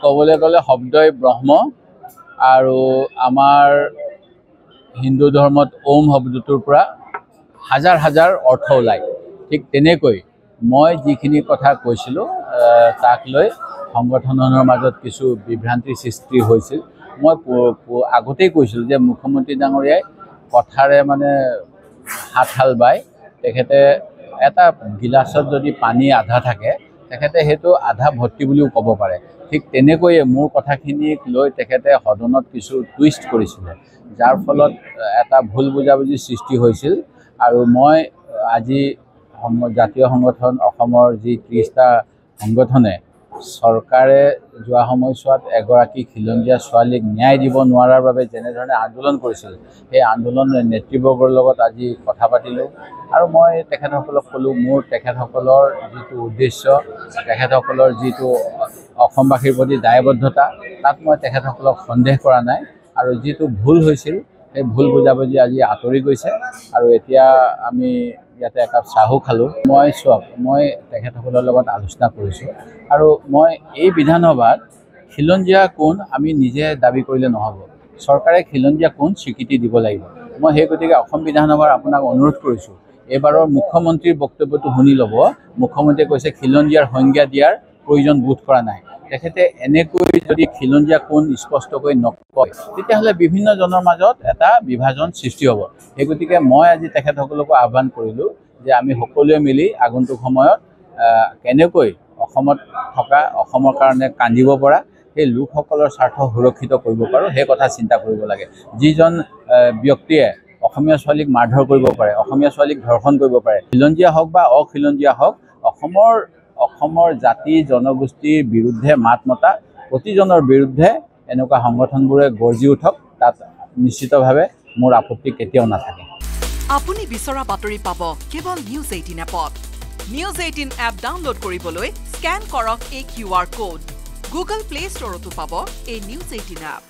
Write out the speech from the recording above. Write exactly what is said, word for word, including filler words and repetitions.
ক'বলৈ গ'লে শব্দই ব্ৰহ্ম আৰু আমাৰ হিন্দু ধৰ্মত ওম শব্দটোৰ পৰা হাজাৰ হাজাৰ অৰ্থ ওলায়। ঠিক তেনেকৈ মই যিখিনি কথা কৈছিলোঁ তাক লৈ সংগঠনৰ মাজত কিছু বিভ্ৰান্তিৰ সৃষ্টি হৈছিল। মই আগতেই কৈছিলোঁ যে মুখ্যমন্ত্ৰী ডাঙৰীয়াই কথাৰে মানে হাত হাল বাই তেখেতে এটা গিলাচত যদি পানী আধা থাকে তেখেতে সেইটো আধা ভৰ্তি বুলিও ক'ব পাৰে। ঠিক তেনেকৈয়ে মোৰ কথাখিনিক লৈ তেখেতে সদনত কিছু টুইষ্ট কৰিছিলে, যাৰ ফলত এটা ভুল বুজাবুজিৰ সৃষ্টি হৈছিল। আৰু মই আজি জাতীয় সংগঠন অসমৰ যি ত্ৰিছটা সংগঠনে চৰকাৰে যোৱা সময়ছোৱাত এগৰাকী খিলঞ্জীয়া ছোৱালীক ন্যায় দিব নোৱাৰাৰ বাবে যেনেধৰণে আন্দোলন কৰিছিল, সেই আন্দোলন নেতৃবৰ্গৰ লগত আজি কথা পাতিলোঁ আৰু মই তেখেতসকলক ক'লোঁ মোৰ তেখেতসকলৰ যিটো উদ্দেশ্য, তেখেতসকলৰ যিটো অসমবাসীৰ প্ৰতি দায়বদ্ধতা, তাত মই তেখেতসকলক সন্দেহ কৰা নাই। আৰু যিটো ভুল হৈছিল সেই ভুল বুজাবুজি আজি আঁতৰি গৈছে আৰু এতিয়া আমি ইয়াতে একাপ চাহো খালোঁ। মই চাওক, মই তেখেতসকলৰ লগত আলোচনা কৰিছোঁ আৰু মই এই বিধানসভাত খিলঞ্জীয়া কোন আমি নিজে দাবী কৰিলে নহ'ব, চৰকাৰে খিলঞ্জীয়া কোন স্বীকৃতি দিব লাগিব। মই সেই গতিকে অসম বিধানসভাৰ আপোনাক অনুৰোধ কৰিছোঁ, এইবাৰৰ মুখ্যমন্ত্ৰীৰ বক্তব্যটো শুনি ল'ব। মুখ্যমন্ত্ৰীয়ে কৈছে খিলঞ্জীয়াৰ সংজ্ঞা দিয়াৰ প্ৰয়োজন বোধ কৰা নাই। তেখেতে এনেকৈ যদি খিলঞ্জীয়া কোন স্পষ্টকৈ নকয় তেতিয়াহ'লে বিভিন্নজনৰ মাজত এটা বিভাজন সৃষ্টি হ'ব। সেই গতিকে মই আজি তেখেতসকলকো আহ্বান কৰিলোঁ যে আমি সকলোৱে মিলি আগন্তুক সময়ত কেনেকৈ অসমত থকা অসমৰ কাৰণে কান্দিব পৰা সেই লোকসকলৰ স্বাৰ্থ সুৰক্ষিত কৰিব পাৰোঁ সেই কথা চিন্তা কৰিব লাগে। যিজন ব্যক্তিয়ে অসমীয়া ছোৱালীক মাৰধৰ কৰিব পাৰে, অসমীয়া ছোৱালীক ধৰ্ষণ কৰিব পাৰে, খিলঞ্জীয়া হওক বা অখিলঞ্জীয়া হওক, অসমৰ অসমৰ জাতি জনগোষ্ঠীৰ বিৰুদ্ধে মাত মতা প্ৰতিজনৰ বিৰুদ্ধে এনেকুৱা সংগঠনবোৰে গৰ্জি উঠক, তাত নিশ্চিতভাৱে মোৰ আপত্তি কেতিয়াও নাথাকে। আপুনি বিচৰা বাতৰি পাব কেৱল নিউজ এইটিন এপত। নিউজ এইটিন এপ ডাউনলোড কৰিবলৈ স্কেন কৰক এই Q R code. Google play ষ্টৰতো পাব এই নিউজ এইটিন এপ।